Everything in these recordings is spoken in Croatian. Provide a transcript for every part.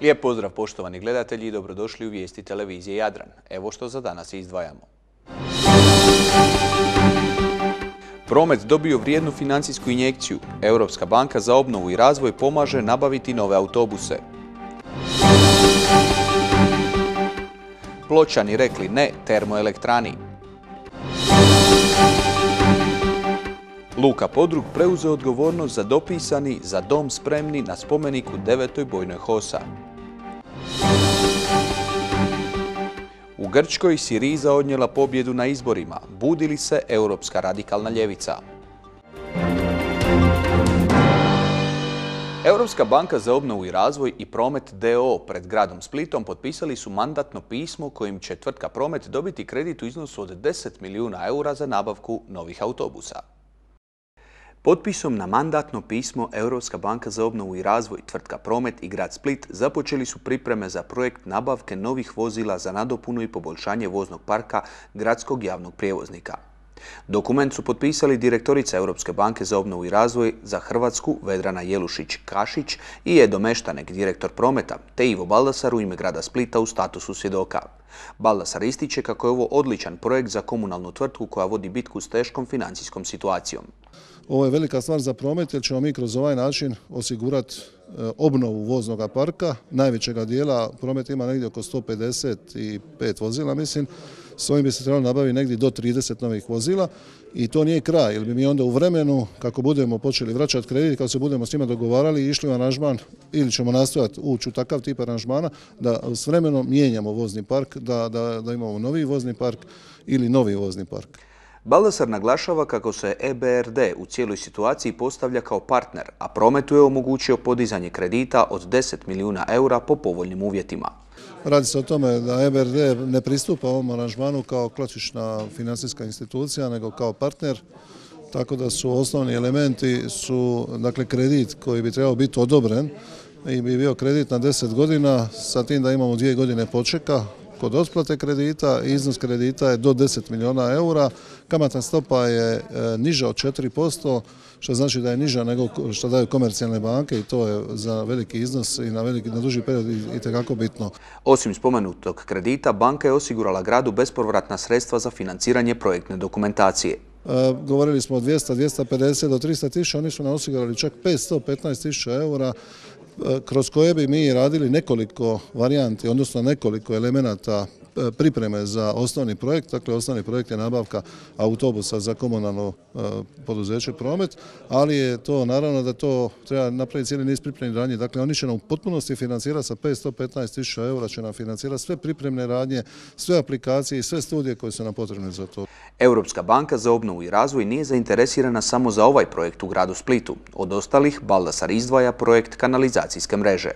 Lijep pozdrav poštovani gledatelji i dobrodošli u vijesti televizije Jadran. Evo što za danas izdvajamo. Promet dobio vrijednu financijsku injekciju. Europska banka za obnovu i razvoj pomaže nabaviti nove autobuse. Pločani rekli ne termoelektrani. Luka Podrug preuzeo odgovornost za dopisani Za dom spremni na spomeniku 9. bojnoj HOS-a. U Grčkoj Siriza odnijela pobjedu na izborima. Budi li se europska radikalna ljevica? Europska banka za obnovu i razvoj i Promet d.o.o. pred gradom Splitom potpisali su mandatno pismo kojim će tvrtka Promet dobiti kredit u iznosu od 10 milijuna eura za nabavku novih autobusa. Potpisom na mandatno pismo Europska banka za obnovu i razvoj, tvrtka Promet i grad Split započeli su pripreme za projekt nabavke novih vozila za nadopunu i poboljšanje voznog parka gradskog javnog prijevoznika. Dokument su potpisali direktorica Europske banke za obnovu i razvoj za Hrvatsku Vedrana Jelušić-Kašić i Edo Meštanek, direktor Prometa, te Ivo Baldasar u ime grada Splita u statusu svjedoka. Baldasar ističe kako je ovo odličan projekt za komunalnu tvrtku koja vodi bitku s teškom financijskom situacijom. Ovo je velika stvar za Promet jer ćemo mi kroz ovaj način osigurati obnovu voznog parka. Najvećega dijela Promet ima negdje oko 155 vozila, mislim. S ovim bi se trebalo nabaviti negdje do 30 novih vozila i to nije kraj, jer bi mi onda u vremenu, kako budemo počeli vraćati kredit, kako se budemo s njima dogovarali, išli u aranžman ili ćemo nastojati ući u takav tip aranžmana da s vremenom mijenjamo vozni park, da imamo novi vozni park ili novi vozni park. Baldasar naglašava kako se EBRD u cijeloj situaciji postavlja kao partner, a Prometu je omogućio podizanje kredita od 10 milijuna eura po povoljnim uvjetima. Radi se o tome da EBRD ne pristupa ovom aranžmanu kao klasična financijska institucija, nego kao partner, tako da su osnovni elementi dakle, kredit koji bi trebao biti odobren i bi bio kredit na 10 godina, sa tim da imamo 2 godine počeka kod otplate kredita. Iznos kredita je do 10 milijuna eura, kamatna stopa je niža od 4%, što znači da je niža nego što daju komercijalne banke i to je za veliki iznos i na duži period itekako bitno. Osim spomenutog kredita, banka je osigurala gradu bespovratna sredstva za financiranje projektne dokumentacije. Govorili smo od 200, 250 do 300 tisuća, oni su nam osigurali čak 515 tisuća eura, kroz koje bi mi radili nekoliko varijanti, odnosno nekoliko elemenata pripreme za osnovni projekt. Dakle, osnovni projekt je nabavka autobusa za komunalno poduzeće Promet, ali je to naravno da to treba napraviti cijeli niz pripremnih radnji. Dakle, oni će nam u potpunosti financirati sa 515 tisuća eura, će nam financirati sve pripremne radnje, sve aplikacije i sve studije koje su nam potrebne za to. Europska banka za obnovu i razvoj nije zainteresirana samo za ovaj projekt u gradu Splitu. Od ostalih, Baldasar izdvaja projekt kanalizacijske mreže.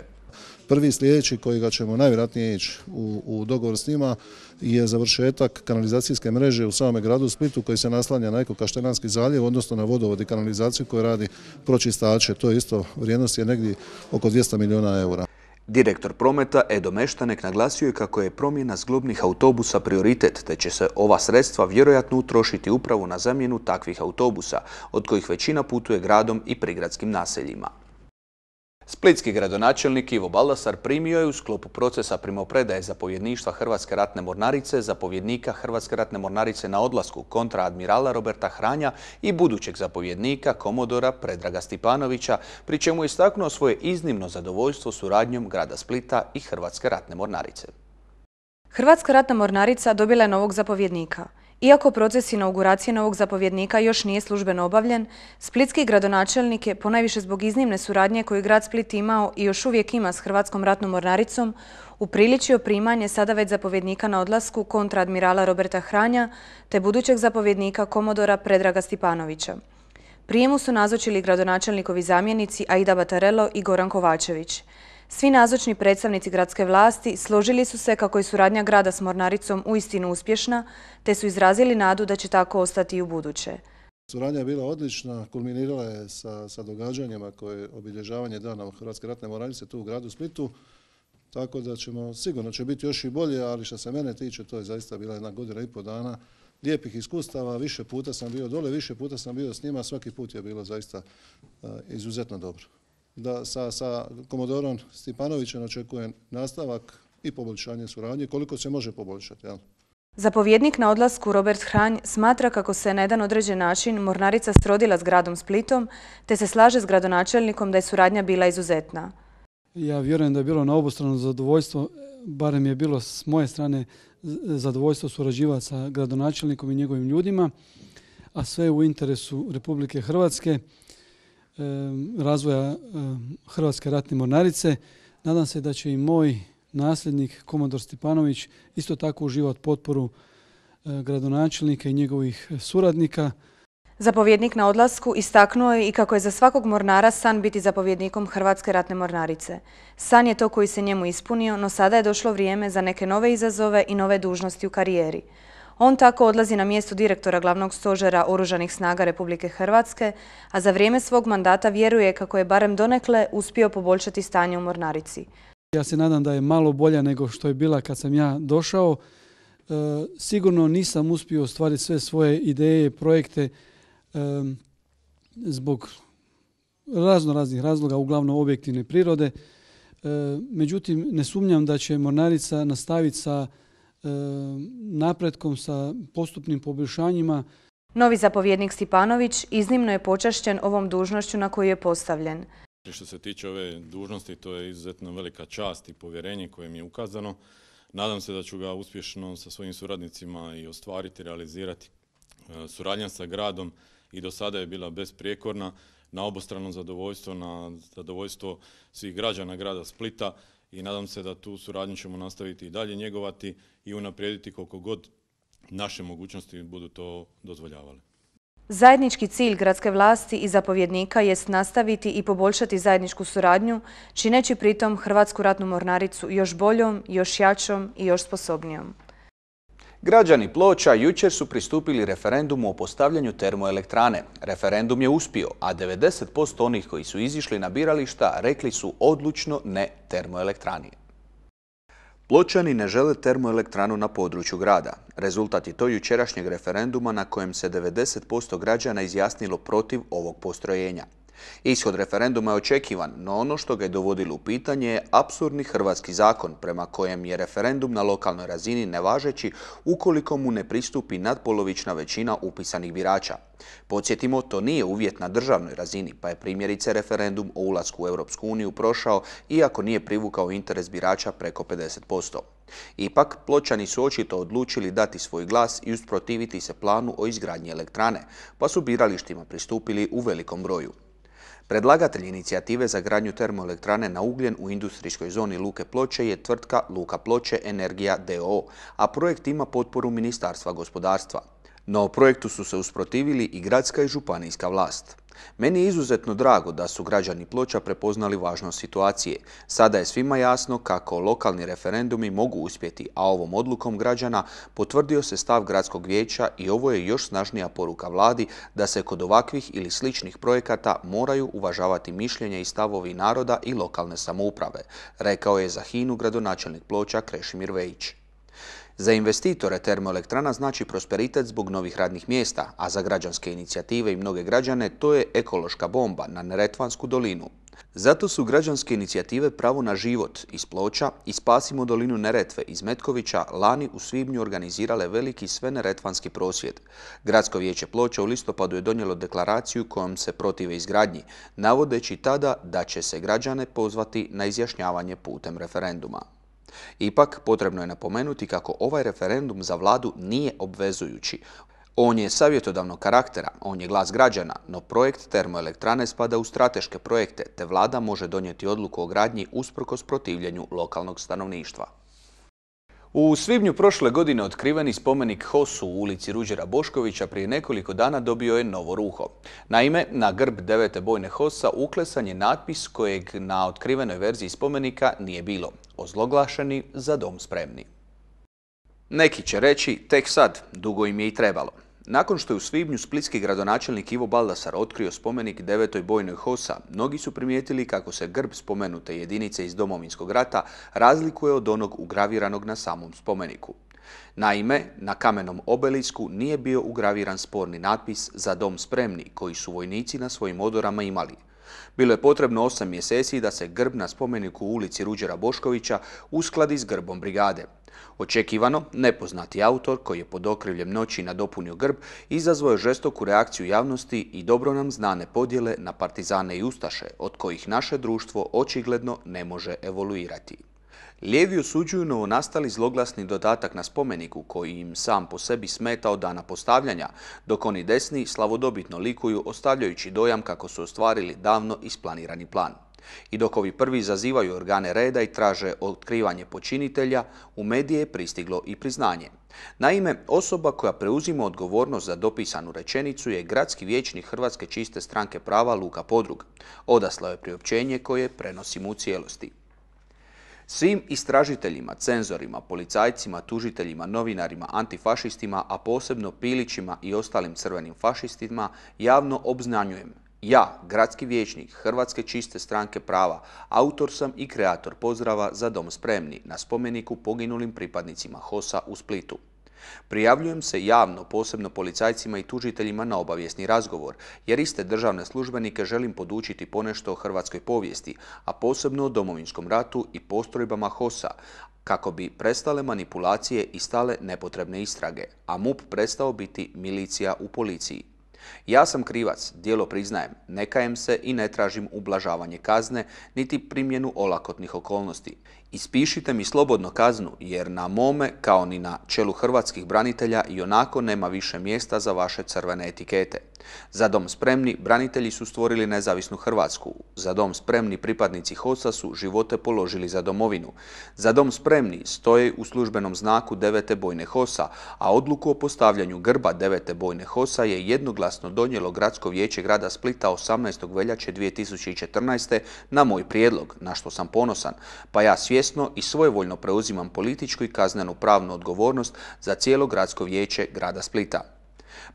Prvi sljedeći kojega ćemo najvjerojatnije ići u dogovor s njima je završetak kanalizacijske mreže u samome gradu Splitu koji se naslanja na Eko-Kaštelanski zaljev, odnosno na vodovod i kanalizaciju koju radi Pročistače. To je isto, vrijednost je negdje oko 200 milijuna eura. Direktor Prometa Edo Meštanek naglasio je kako je promjena zglobnih autobusa prioritet, te će se ova sredstva vjerojatno utrošiti upravo na zamjenu takvih autobusa, od kojih većina putuje gradom i prigradskim naseljima. Splitski gradonačelnik Ivo Baldasar primio je u sklopu procesa primopredaje zapovjedništva Hrvatske ratne mornarice zapovjednika Hrvatske ratne mornarice na odlasku kontraadmirala Roberta Hranja i budućeg zapovjednika komodora Predraga Stipanovića, pri čemu je istaknuo svoje iznimno zadovoljstvo suradnjom grada Splita i Hrvatske ratne mornarice. Hrvatska ratna mornarica dobila je novog zapovjednika. Iako proces inauguracije novog zapovjednika još nije službeno obavljen, splitski gradonačelnik je, ponajviše zbog iznimne suradnje koju grad Split imao i još uvijek ima s Hrvatskom ratnom mornaricom, upriličio primanje sada već zapovjednika na odlasku kontraadmirala Roberta Hranja te budućeg zapovjednika komodora Predraga Stipanovića. Prijemu su nazočili gradonačelnikovi zamjenici Aida Batarello i Goran Kovačević. Svi nazočni predstavnici gradske vlasti složili su se kako je suradnja grada s mornaricom uistinu uspješna, te su izrazili nadu da će tako ostati i u buduće. Suradnja je bila odlična, kulminirala je sa događanjima koje je obilježavanje dana Hrvatske ratne mornarice tu u gradu Splitu, tako da sigurno će biti još i bolje, ali što se mene tiče, to je zaista bila 1,5 dana lijepih iskustava. Više puta sam bio dole, više puta sam bio s njima, svaki put je bilo zaista izuzetno dobro. da sa komodorom Stipanovićem očekujem nastavak i poboljšanje suradnje, koliko se može poboljšati. Jel? Zapovjednik na odlasku Robert Hranj smatra kako se na jedan određen način mornarica srodila s gradom Splitom, te se slaže s gradonačelnikom da je suradnja bila izuzetna. Ja vjerujem da je bilo na obostrano zadovoljstvo, barem je bilo s moje strane zadovoljstvo surađivati sa gradonačelnikom i njegovim ljudima, a sve u interesu Republike Hrvatske, razvoja Hrvatske ratne mornarice. Nadam se da će i moj nasljednik, komandor Stipanović, isto tako uživati potporu gradonačelnika i njegovih suradnika. Zapovjednik na odlasku istaknuo je i kako je za svakog mornara san biti zapovjednikom Hrvatske ratne mornarice. San je to koji se njemu ispunio, no sada je došlo vrijeme za neke nove izazove i nove dužnosti u karijeri. On tako odlazi na mjesto direktora glavnog stožera Oružanih snaga Republike Hrvatske, a za vrijeme svog mandata vjeruje kako je barem donekle uspio poboljšati stanje u mornarici. Ja se nadam da je malo bolja nego što je bila kad sam ja došao. Sigurno nisam uspio ostvariti sve svoje ideje, projekte zbog raznih razloga, uglavnom objektivne prirode. Međutim, ne sumnjam da će mornarica nastaviti sa napretkom, sa postupnim poboljšanjima. Novi zapovjednik Stipanović iznimno je počašćen ovom dužnošću na koju je postavljen. Što se tiče ove dužnosti, to je izuzetno velika čast i povjerenje koje mi je ukazano. Nadam se da ću ga uspješno sa svojim suradnicima i ostvariti, realizirati. Suradnja sa gradom i do sada je bila besprijekorna, na obostrano zadovoljstvo, na zadovoljstvo svih građana grada Splita i nadam se da tu suradnju ćemo nastaviti i dalje njegovati i unaprijediti koliko god naše mogućnosti budu to dozvoljavale. Zajednički cilj gradske vlasti i zapovjednika jest nastaviti i poboljšati zajedničku suradnju, čineći pritom Hrvatsku ratnu mornaricu još boljom, još jačom i još sposobnijom. Građani Ploča jučer su pristupili referendumu o postavljanju termoelektrane. Referendum je uspio, a 90% onih koji su izišli na birališta rekli su odlučno ne termoelektrani. Pločani ne žele termoelektranu na području grada. Rezultat je to jučerašnjeg referenduma na kojem se 90% građana izjasnilo protiv ovog postrojenja. Ishod referenduma je očekivan, no ono što ga je dovodilo u pitanje je apsurdni hrvatski zakon prema kojem je referendum na lokalnoj razini nevažeći ukoliko mu ne pristupi nadpolovična većina upisanih birača. Podsjetimo, to nije uvjet na državnoj razini, pa je primjerice referendum o ulasku u Europsku uniju prošao iako nije privukao interes birača preko 50%. Ipak, Pločani su očito odlučili dati svoj glas i usprotiviti se planu o izgradnji elektrane, pa su biralištima pristupili u velikom broju. Predlagatelj inicijative za gradnju termoelektrane na ugljen u industrijskoj zoni Luke Ploče je tvrtka Luka Ploče Energija d.o.o., a projekt ima potporu Ministarstva gospodarstva. No projektu su se usprotivili i gradska i županijska vlast. Meni je izuzetno drago da su građani Ploča prepoznali važnost situacije. Sada je svima jasno kako lokalni referendumi mogu uspjeti, a ovom odlukom građana potvrdio se stav gradskog vijeća i ovo je još snažnija poruka vladi da se kod ovakvih ili sličnih projekata moraju uvažavati mišljenje i stavovi naroda i lokalne samouprave, rekao je za HINA-u gradonačelnik Ploča Krešimir Vejić. Za investitore termoelektrana znači prosperitet zbog novih radnih mjesta, a za građanske inicijative i mnoge građane to je ekološka bomba na Neretvansku dolinu. Zato su građanske inicijative Pravo na život iz Ploča i Spasimo dolinu Neretve iz Metkovića lani u svibnju organizirale veliki sveneretvanski prosvjed. Gradsko vijeće Ploča u listopadu je donijelo deklaraciju kojom se protive izgradnji, navodeći tada da će se građane pozvati na izjašnjavanje putem referenduma. Ipak, potrebno je napomenuti kako ovaj referendum za vladu nije obvezujući. On je savjetodavnog karaktera, on je glas građana, no projekt termoelektrane spada u strateške projekte, te vlada može donijeti odluku o gradnji usprkos protivljenju lokalnog stanovništva. U svibnju prošle godine otkriveni spomenik HOS-u u ulici Ruđera Boškovića prije nekoliko dana dobio je novo ruho. Naime, na grb 9. bojne HOS-a uklesan je natpis kojeg na otkrivenoj verziji spomenika nije bilo. Ozloglašeni za dom spremni. Neki će reći tek sad, dugo im je i trebalo. Nakon što je u svibnju splitski gradonačelnik Ivo Baldasar otkrio spomenik 9. bojnoj HOS-a, mnogi su primijetili kako se grb spomenute jedinice iz Domovinskog rata razlikuje od onog ugraviranog na samom spomeniku. Naime, na kamenom obelisku nije bio ugraviran sporni natpis za dom spremni koji su vojnici na svojim odorama imali. Bilo je potrebno 8 mjeseci da se grb na spomeniku u ulici Ruđera Boškovića uskladi s grbom brigade. Očekivano, nepoznati autor, koji je pod okriljem noći nadopunio grb, izazvao je žestoku reakciju javnosti i dobro nam znane podjele na partizane i ustaše, od kojih naše društvo očigledno ne može evoluirati. Lijevi osuđuju novonastali zloglasni dodatak na spomeniku koji im sam po sebi smeta od dana postavljanja, dok oni desni slavodobitno likuju ostavljajući dojam kako su ostvarili davno isplanirani plan. I dok ovi prvi zazivaju organe reda i traže otkrivanje počinitelja, u medije je pristiglo i priznanje. Naime, osoba koja preuzima odgovornost za dopisanu rečenicu je gradski vijećnik Hrvatske čiste stranke prava Luka Podrug. Odaslao je priopćenje koje prenosimo u cijelosti. Svim istražiteljima, cenzorima, policajcima, tužiteljima, novinarima, antifašistima, a posebno Pilićima i ostalim crvenim fašistima, javno obznanjujem: ja, gradski vijećnik Hrvatske čiste stranke prava, autor sam i kreator pozdrava Za dom spremni na spomeniku poginulim pripadnicima HOS-a u Splitu. Prijavljujem se javno, posebno policajcima i tužiteljima, na obavijesni razgovor, jer iste državne službenike želim podučiti ponešto o hrvatskoj povijesti, a posebno o Domovinskom ratu i postrojbama HOS-a, kako bi prestale manipulacije i stale nepotrebne istrage, a MUP prestao biti milicija u policiji. Ja sam krivac, djelo priznajem, ne kajem se i ne tražim ublažavanje kazne, niti primjenu olakotnih okolnosti. Ispišite mi slobodno kaznu, jer na mome, kao ni na čelu hrvatskih branitelja, ionako nema više mjesta za vaše crvene etikete. Za dom spremni branitelji su stvorili nezavisnu Hrvatsku. Za dom spremni pripadnici HOS-a su živote položili za domovinu. Za dom spremni stoje u službenom znaku 9. bojne HOS-a, a odluku o postavljanju grba 9. bojne HOS-a je jednoglasno donijelo Gradsko vijeće grada Splita 18. veljače 2014. na moj prijedlog, na što sam ponosan, pa ja svjesno i svojevoljno preuzimam političku i kaznenu pravnu odgovornost za cijelo Gradsko vijeće grada Splita.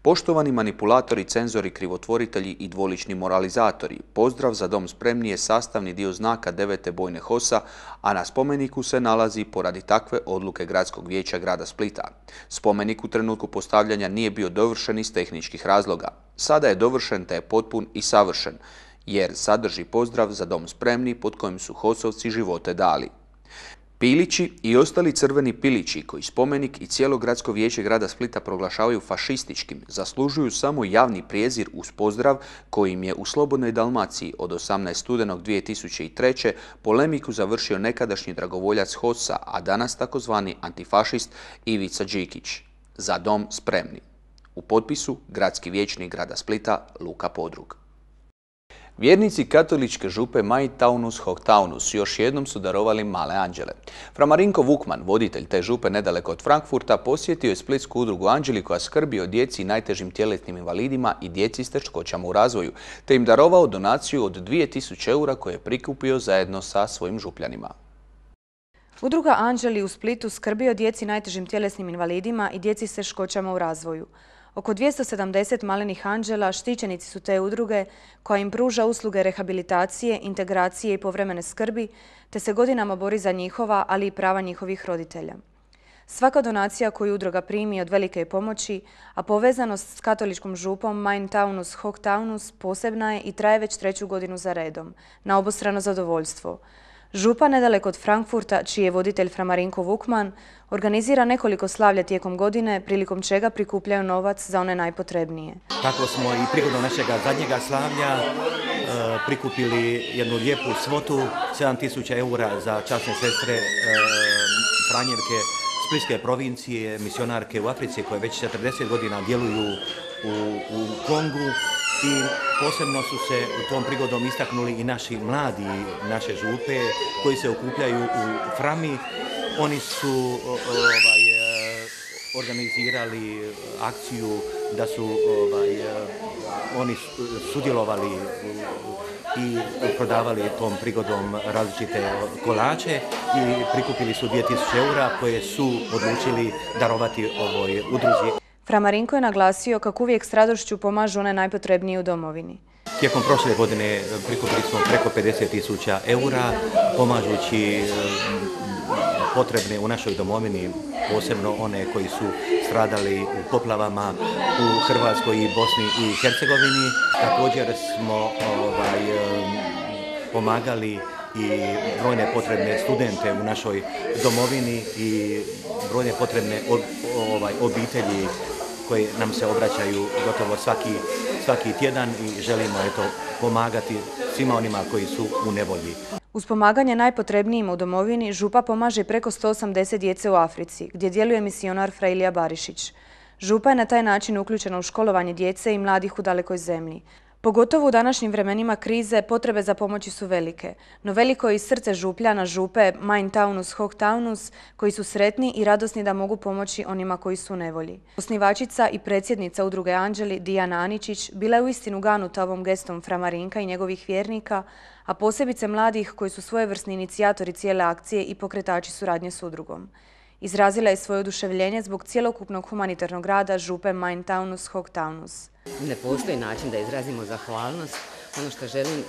Poštovani manipulatori, cenzori, krivotvoritelji i dvolični moralizatori, pozdrav Za dom spremni je sastavni dio znaka 9. bojne HOS-a, a na spomeniku se nalazi poradi takve odluke Gradskog vijeća grada Splita. Spomenik u trenutku postavljanja nije bio dovršen iz tehničkih razloga. Sada je dovršen te je potpun i savršen, jer sadrži pozdrav Za dom spremni pod kojim su HOS-ovci živote dali. Pilići i ostali crveni pilići, koji spomenik i cijelo Gradsko vijeće grada Splita proglašavaju fašističkim, zaslužuju samo javni prijezir uz pozdrav kojim je u Slobodnoj Dalmaciji od 18. studenog 2003. polemiku završio nekadašnji dragovoljac HOS-a, a danas takozvani antifašist Ivica Đikić. Za dom spremni. U potpisu gradski vijećnik grada Splita Luka Podrug. Vjernici katoličke župe Mai Taunus Hoc Taunus još jednom su darovali male anđele. Fra Marinko Vukman, voditelj te župe nedaleko od Frankfurta, posjetio je splitsku udrugu Anđeli koja skrbi o djeci i najtežim tjelesnim invalidima i djeci s teškoćama u razvoju, te im darovao donaciju od 2000 eura koje je prikupio zajedno sa svojim župljanima. Udruga Anđeli u Splitu skrbi o djeci najtežim tjelesnim invalidima i djeci s teškoćama u razvoju. Oko 270 malenih anđela štićenici su te udruge koja im pruža usluge rehabilitacije, integracije i povremene skrbi, te se godinama bori za njihova, ali i prava njihovih roditelja. Svaka donacija koju udruga primi od velike je pomoći, a povezanost s katoličkom župom Mai Taunus Hoc Taunus posebna je i traje već 3. godinu za redom, na obostrano zadovoljstvo. Župa nedaleko od Frankfurta, čiji je voditelj Fra Marinko Vukman, organizira nekoliko slavlja tijekom godine, prilikom čega prikupljaju novac za one najpotrebnije. Tako smo i prigodom našega zadnjega slavlja prikupili jednu lijepu svotu, 7000 eura za časne sestre Franjevke Splitske provincije, misionarke u Africi koje već 40 godina djeluju u Kongu. I posebno su se u tom prigodom istaknuli i naši mladi naše župe koji se okupljaju u Frami. Oni su organizirali akciju da su oni sudjelovali i prodavali tom prigodom različite kolače i prikupili su 2000 eura koje su odlučili darovati ovoj udruzi. Fra Marinko je naglasio kako uvijek s radošću pomažu one najpotrebnije u domovini. Tijekom prošle godine prikupili smo preko 50.000 eura, pomažući potrebne u našoj domovini, posebno one koji su stradali u poplavama u Hrvatskoj i Bosni i Hercegovini. Također smo pomagali i brojne potrebne studente u našoj domovini i brojne potrebne obitelji koje nam se obraćaju gotovo svaki tjedan i želimo pomagati svima onima koji su u nevolji. Uz pomaganje najpotrebnijima u domovini, župa pomaže preko 180 djece u Africi, gdje djeluje misionar Fra Ilija Barišić. Župa je na taj način uključena u školovanje djece i mladih u dalekoj zemlji. Pogotovo u današnjim vremenima krize potrebe za pomoći su velike, no veliko je i srce župljana župe Mein Taunus Hoch Taunus, koji su sretni i radosni da mogu pomoći onima koji su u nevolji. Osnivačica i predsjednica udruge Anđeli, Dijana Aničić, bila je uistinu ganuta ovom gestom Fra Marinka i njegovih vjernika, a posebice mladih koji su svojevrsni inicijatori cijele akcije i pokretači suradnje s udrugom. Izrazila je svoje oduševljenje zbog cjelokupnog humanitarnog rada župe Mein Taunus Hoch Taunus. Ne postoji način da izrazimo zahvalnost. Ono što želim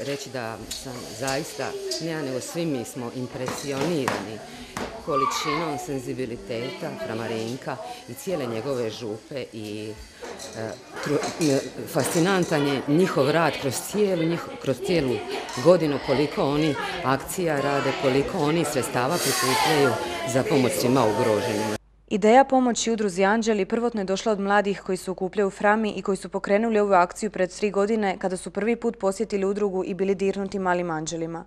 reći da sam zaista, ne ja nego svi mi smo impresionirani količinom senzibiliteta Fra Marinka i cijele njegove župe i fascinantan je njihov rad kroz cijelu godinu, koliko oni akcija rade, koliko oni sredstava prikupljaju za pomoć svima ugroženima. Ideja pomoći udruzi Anđeli prvotno je došla od mladih koji se okupljaju u Frami i koji su pokrenuli ovu akciju pred 3 godine kada su prvi put posjetili udrugu i bili dirnuti malim anđelima.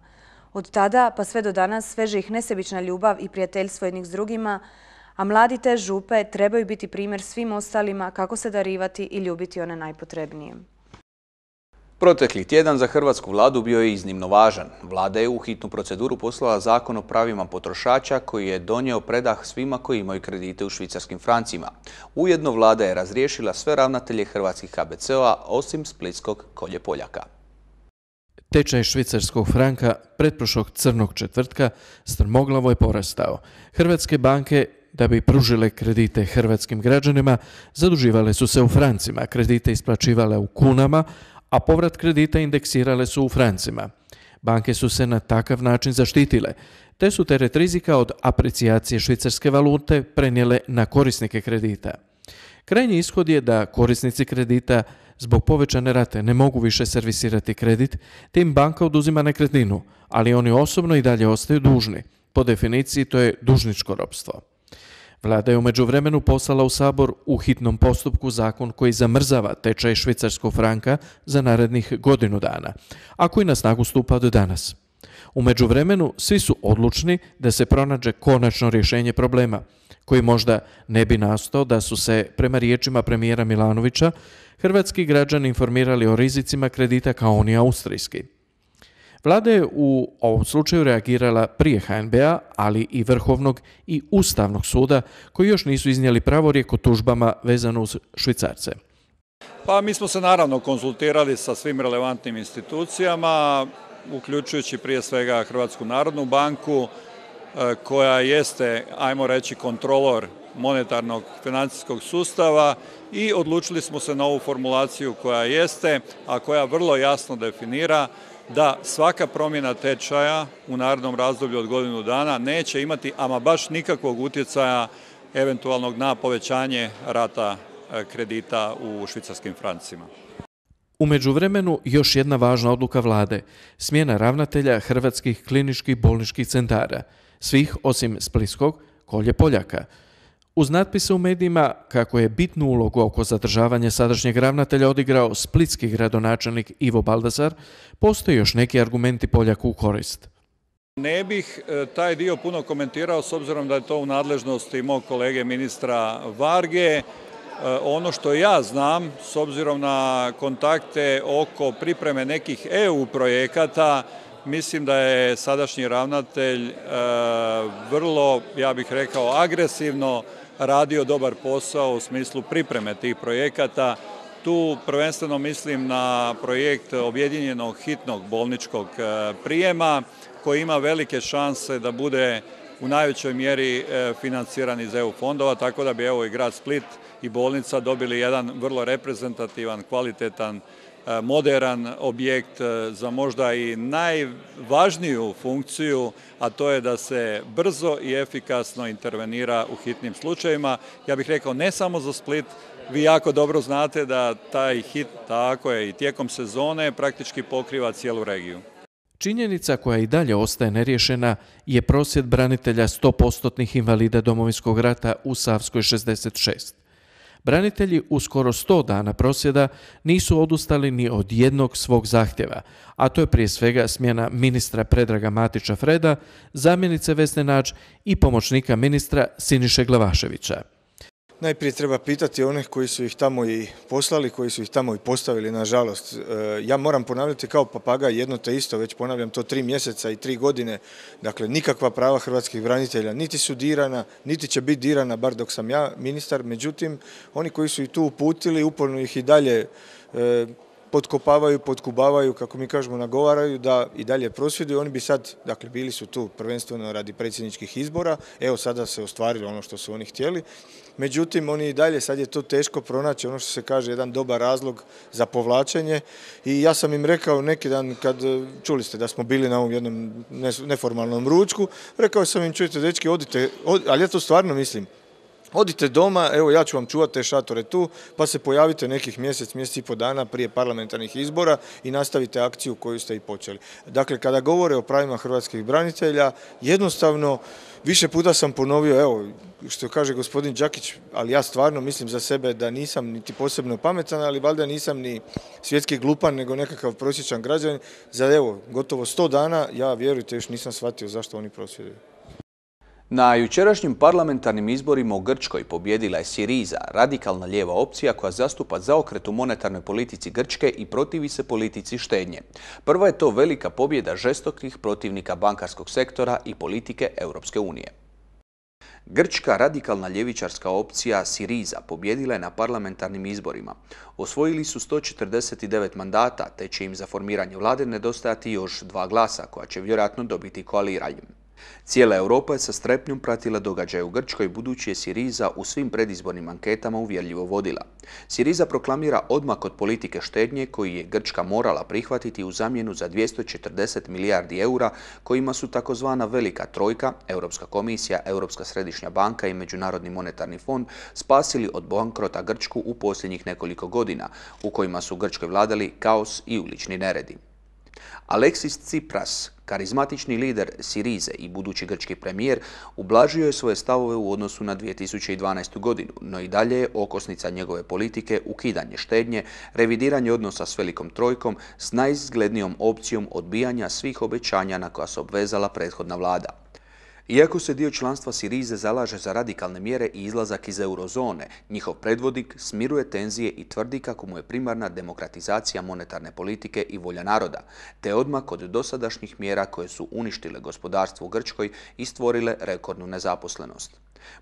Od tada pa sve do danas veže ih nesebična ljubav i prijateljstvo jednih s drugima, a mladi te župe trebaju biti primjer svim ostalima kako se darivati i ljubiti one najpotrebnije. Protekli tjedan za hrvatsku vladu bio je iznimno važan. Vlada je u hitnu proceduru poslala zakon o pravima potrošača koji je donio predah svima koji imaju kredite u švicarskim francima. Ujedno vlada je razriješila sve ravnatelje hrvatskih KBC-ova osim splitskog Kolje Poljaka. Tečaj švicarskog franka pretprošlog crnog četvrtka strmoglavo je porastao. Hrvatske banke, da bi pružile kredite hrvatskim građanima, zaduživale su se u francima, kredite isplaćivale u kunama, a povrat kredita indeksirale su u francima. Banke su se na takav način zaštitile, te su teret rizika od aprecijacije švicarske valute prenijele na korisnike kredita. Krajnji ishod je da korisnici kredita zbog povećane rate ne mogu više servisirati kredit, te im banka oduzima nekretninu, ali oni osobno i dalje ostaju dužni. Po definiciji to je dužničko ropstvo. Vlada je u međuvremenu poslala u Sabor u hitnom postupku zakon koji zamrzava tečaj švicarskog franka za narednih godinu dana, a koji na snagu stupa od danas. U međuvremenu svi su odlučni da se pronađe konačno rješenje problema, koji možda ne bi nastao da su se, prema riječima premijera Milanovića, hrvatski građani informirali o rizicima kredita kao oni austrijski. Vlada je u ovom slučaju reagirala prije HNB-a, ali i Vrhovnog i Ustavnog suda, koji još nisu iznijeli pravorijek o tužbama vezano uz švicarce. Pa mi smo se naravno konzultirali sa svim relevantnim institucijama, uključujući prije svega Hrvatsku narodnu banku, koja jeste, ajmo reći, kontrolor monetarnog financijskog sustava i odlučili smo se na ovu formulaciju koja jeste, a koja vrlo jasno definira da svaka promjena tečaja u narednom razdoblju od godinu dana neće imati ama baš nikakvog utjecaja eventualnog na povećanje rata kredita u švicarskim francima. U međuvremenu još jedna važna odluka vlade, smjena ravnatelja hrvatskih kliničkih bolničkih centara, svih osim splitskog Kolje Poljaka. Uz natpise u medijima kako je bitnu ulogu oko zadržavanja sadašnjeg ravnatelja odigrao splitski gradonačelnik Ivo Baldasar, postoje još neki argumenti Poljaku u korist. Ne bih taj dio puno komentirao s obzirom da je to u nadležnosti mog kolege ministra Varge. Ono što ja znam, s obzirom na kontakte oko pripreme nekih EU projekata, mislim da je sadašnji ravnatelj vrlo, ja bih rekao, agresivno radio dobar posao u smislu pripreme tih projekata. Tu prvenstveno mislim na projekt objedinjenog hitnog bolničkog prijema koji ima velike šanse da bude u najvećoj mjeri financiran iz EU fondova, tako da bi evo i grad Split i bolnica dobili jedan vrlo reprezentativan, kvalitetan, moderan objekt za možda i najvažniju funkciju, a to je da se brzo i efikasno intervenira u hitnim slučajevima. Ja bih rekao ne samo za Split, vi jako dobro znate da taj hit, tako je, i tijekom sezone praktički pokriva cijelu regiju. Činjenica koja i dalje ostaje neriješena je prosvjed branitelja 100% invalida Domovinskog rata u Savskoj 66. Branitelji u skoro 100 dana prosvjeda nisu odustali ni od jednog svog zahtjeva, a to je prije svega smjena ministra Predraga Matića Freda, zamjenice Vesne Nađ i pomoćnika ministra Siniše Glavaševića. Najprije treba pitati one koji su ih tamo i poslali, koji su ih tamo i postavili, nažalost. Ja moram ponavljati kao papagaj jedno te isto, već ponavljam to 3 mjeseca i 3 godine. Dakle, nikakva prava hrvatskih branitelja niti su dirana, niti će biti dirana, bar dok sam ja ministar. Međutim, oni koji su ih tu uputili, uporno ih i dalje potkopavaju, potkubavaju, kako mi kažemo, nagovaraju da i dalje prosvjeduju. Oni bi sad, dakle, bili su tu prvenstveno radi predsjedničkih izbora, evo sada se ostvarilo ono što su oni htjeli. Međutim, oni i dalje, sad je to teško pronaći, ono što se kaže, jedan dobar razlog za povlačenje. I ja sam im rekao neki dan, kad čuli ste da smo bili na ovom jednom neformalnom ručku, rekao sam im, čujte, dečki, odite, ali ja to stvarno mislim, odite doma, evo ja ću vam čuvati te šatore tu, pa se pojavite nekih mjesec i pol dana prije parlamentarnih izbora i nastavite akciju koju ste i počeli. Dakle, kada govore o pravima hrvatskih branitelja, jednostavno, više puta sam ponovio, evo, što kaže gospodin Đakić, ali ja stvarno mislim za sebe da nisam niti posebno pametan, ali valjda nisam ni svjetski glupan, nego nekakav prosječan građanin. Za, evo, gotovo 100 dana, ja vjerujte, još nisam shvatio zašto oni prosvjeduju. Na jučerašnjim parlamentarnim izborima u Grčkoj pobjedila je Siriza, radikalna lijeva opcija koja zastupa zaokret u monetarnoj politici Grčke i protivi se politici štednje. Prva je to velika pobjeda žestokih protivnika bankarskog sektora i politike Europske unije. Grčka radikalna ljevičarska opcija Siriza pobjedila je na parlamentarnim izborima. Osvojili su 149 mandata, te će im za formiranje vlade nedostajati još 2 glasa, koja će vjerojatno dobiti koaliranjem. Cijela Europa je sa strepnjom pratila događaje u Grčkoj, budući je Siriza u svim predizbornim anketama uvjerljivo vodila. Siriza proklamira odmak od politike štednje koji je Grčka morala prihvatiti u zamjenu za 240 milijardi eura kojima su takozvana velika trojka, Europska komisija, Europska središnja banka i Međunarodni monetarni fond spasili od bankrota Grčku u posljednjih nekoliko godina, u kojima su Grčkoj vladali kaos i ulični neredi. Aleksis Tsipras, karizmatični lider Sirize i budući grčki premijer, ublažio je svoje stavove u odnosu na 2012. godinu, no i dalje je okosnica njegove politike ukidanje štednje, revidiranje odnosa s velikom trojkom s najizglednijom opcijom odbijanja svih obećanja na koja se obvezala prethodna vlada. Iako se dio članstva Sirize zalaže za radikalne mjere i izlazak iz eurozone, njihov predvodnik smiruje tenzije i tvrdi kako mu je primarna demokratizacija monetarne politike i volja naroda, te odmak od dosadašnjih mjera koje su uništile gospodarstvo u Grčkoj i stvorile rekordnu nezaposlenost.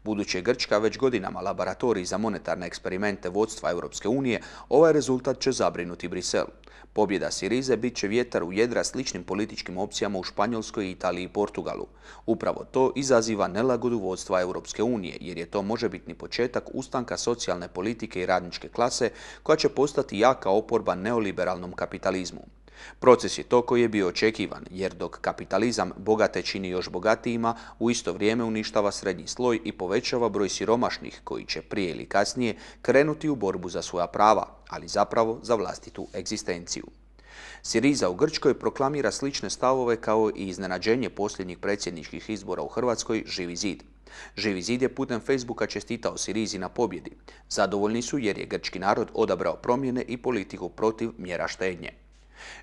Budući je Grčka već godinama laboratorij za monetarne eksperimente vodstva Europske unije, ovaj rezultat će zabrinuti Brisel. Pobjeda Sirize bit će vjetar u jedra sličnim političkim opcijama u Španjolskoj, Italiji i Portugalu. Upravo to izaziva nelagodu vodstva Europske unije, jer je to možebitni početak ustanka socijalne politike i radničke klase koja će postati jaka oporba neoliberalnom kapitalizmu. Proces je to koji je bio očekivan, jer dok kapitalizam bogate čini još bogatijima, u isto vrijeme uništava srednji sloj i povećava broj siromašnih koji će prije ili kasnije krenuti u borbu za svoja prava, ali zapravo za vlastitu egzistenciju. Siriza u Grčkoj proklamira slične stavove kao i iznenađenje posljednjih predsjedničkih izbora u Hrvatskoj Živi zid. Živi zid je putem Facebooka čestitao Sirizi na pobjedi. Zadovoljni su jer je grčki narod odabrao promjene i politiku protiv mjera štednje.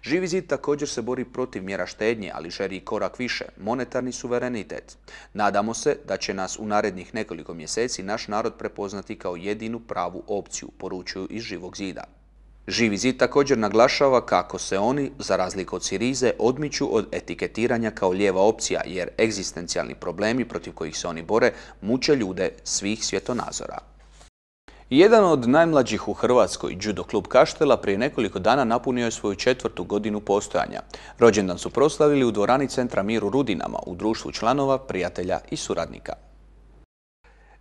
Živi zid također se bori protiv mjera štednje, ali želi i korak više, monetarni suverenitet. Nadamo se da će nas u narednih nekoliko mjeseci naš narod prepoznati kao jedinu pravu opciju, poručuju iz Živog zida. Živi zid također naglašava kako se oni, za razliku od Sirize, odmiču od etiketiranja kao lijeva opcija, jer egzistencijalni problemi protiv kojih se oni bore muče ljude svih svjetonazora. Jedan od najmlađih u Hrvatskoj, Judo klub Kaštela, prije nekoliko dana napunio je svoju 4. godinu postojanja. Rođendan su proslavili u dvorani Centra Mir u Rudinama, u društvu članova, prijatelja i suradnika.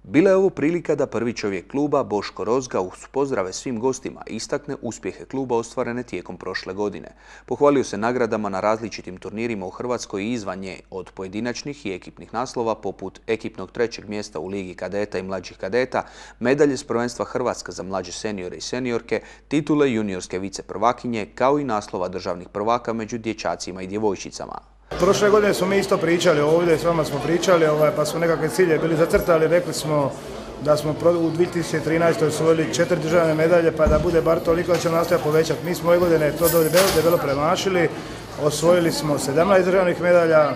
Bila je ovo prilika da prvi čovjek kluba, Boško Rozga, uz pozdrave svim gostima istakne uspjehe kluba ostvarene tijekom prošle godine. Pohvalio se nagradama na različitim turnirima u Hrvatskoj i izvan nje, od pojedinačnih i ekipnih naslova poput ekipnog 3. mjesta u Ligi kadeta i mlađih kadeta, medalje s prvenstva Hrvatska za mlađe seniore i seniorke, titule juniorske viceprvakinje, kao i naslova državnih prvaka među dječacima i djevojčicama. Prošle godine smo mi isto pričali ovdje, s vama smo pričali, pa smo nekakve cilje bili zacrtali, rekli smo da smo u 2013. osvojili 4 državne medalje, pa da bude bar toliko da ćemo nastaviti povećati. Mi smo ove godine to debelo premašili, osvojili smo 17 državnih medalja,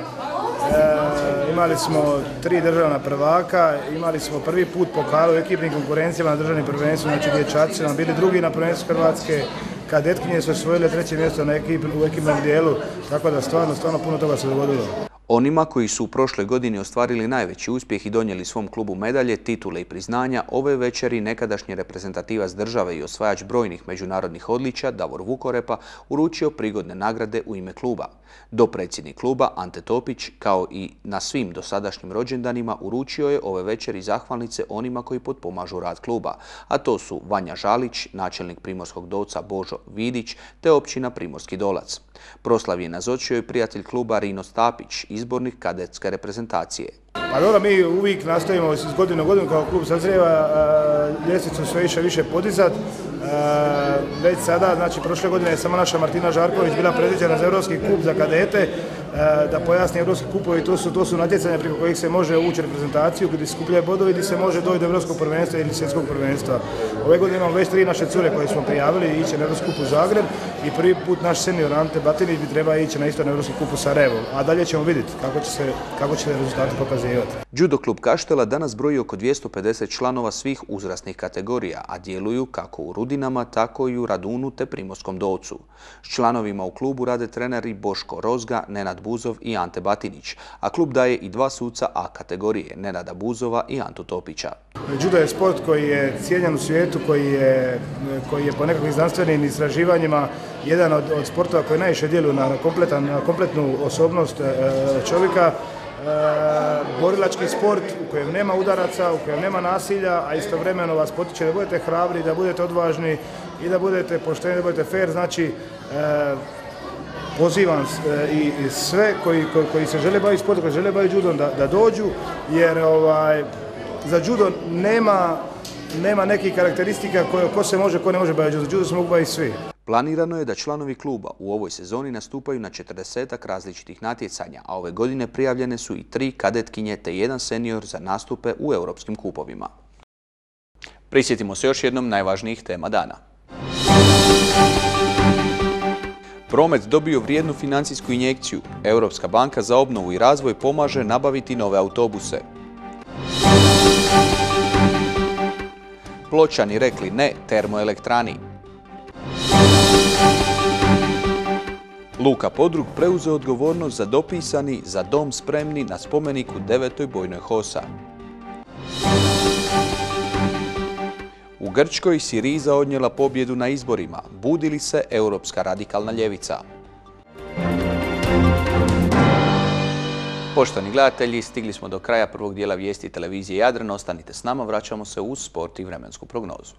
imali smo 3 državna prvaka, imali smo prvi put pokal u ekipnim konkurencijama na državnim prvenstvima, znači dječaci smo bili drugi na prvenstvu Hrvatske, kadetkinje su osvojile 3. mjesto u ekipnom dijelu, tako da stvarno puno toga se dogodilo. Onima koji su u prošloj godini ostvarili najveći uspjeh i donijeli svom klubu medalje, titule i priznanja, ove večeri nekadašnji reprezentativac države i osvajač brojnih međunarodnih odličja, Davor Vukorepa, uručio prigodne nagrade u ime kluba. Dopredsjednik kluba, Ante Topić, kao i na svim dosadašnjim rođendanima, uručio je ove večeri zahvalnice onima koji potpomažu rad kluba, a to su Vanja Žalić, načelnik Primorskog Dolca Božo Vidić, te općina Primorski Dolac. Proslav je nazočio i prijatelj kluba Rino Stapić, izbornik kadetske reprezentacije. Pa dobro, mi uvijek nastavimo iz godine u godinu kao klub sazrijeva ljestvicu sve više podizati. Već sada, znači prošle godine je samo naša Martina Žarković bila predviđena za Europski kup za kadete. Da pojasni, Europski kupovi to su natjecanja preko kojih se može ući reprezentaciju, gdje se skupljaju bodovi, gdje se može doći do Europskog prvenstva ili svjetskog prvenstva. Ove godine imamo već 3 naše cure koje smo prijavili i ići na Europski kup u Zagreb i prvi put naš senior Ante Batinić bi trebao ići na isto na Europski kup u Sarajevo. A dalje ćemo vidjeti kako će se rezultati pokazivati. Judo klub Kaštela danas broji oko 250 članova svih uzrasnih kategorija, a djeluju kako u Rudinama, tako i u Radunu te Primorskom Dolcu. S članovima u klubu rade treneri Boško Rozga, Nenad Buzov i Ante Batinić, a klub daje i 2 suca A kategorije, Nenada Buzova i Antu Topića. Judo je sport koji je cijenjen u svijetu, koji je po nekakvim znanstvenim istraživanjima jedan od sportova koji najviše djeluju na kompletnu osobnost čovjeka. Borilački sport u kojem nema udaraca, u kojem nema nasilja, a istovremeno vas potiče da budete hrabri, da budete odvažni i da budete pošteni, da budete fair. Znači, pozivam i sve koji se žele baviti sportom, koji se žele baviti judom da dođu, jer za judo nema nekih karakteristika ko se može, ko ne može baviti judom. Za judo se mogu baviti svi. Planirano je da članovi kluba u ovoj sezoni nastupaju na 40 različitih natjecanja, a ove godine prijavljene su i 3 kadetkinje te 1 senior za nastupe u europskim kupovima. Prisjetimo se još jednom najvažnijih tema dana. Promet dobio vrijednu financijsku injekciju. Europska banka za obnovu i razvoj pomaže nabaviti nove autobuse. Pločani rekli ne termoelektrani. Luka Podrug preuzeo odgovornost za dopisani Za dom spremni na spomeniku 9. bojnoj HOS-a. U Grčkoj Siriza odnijela pobjedu na izborima. Budi li se europska radikalna ljevica? Poštovani gledatelji, stigli smo do kraja prvog dijela vijesti televizije Jadran. Ostanite s nama, vraćamo se uz sport i vremensku prognozu.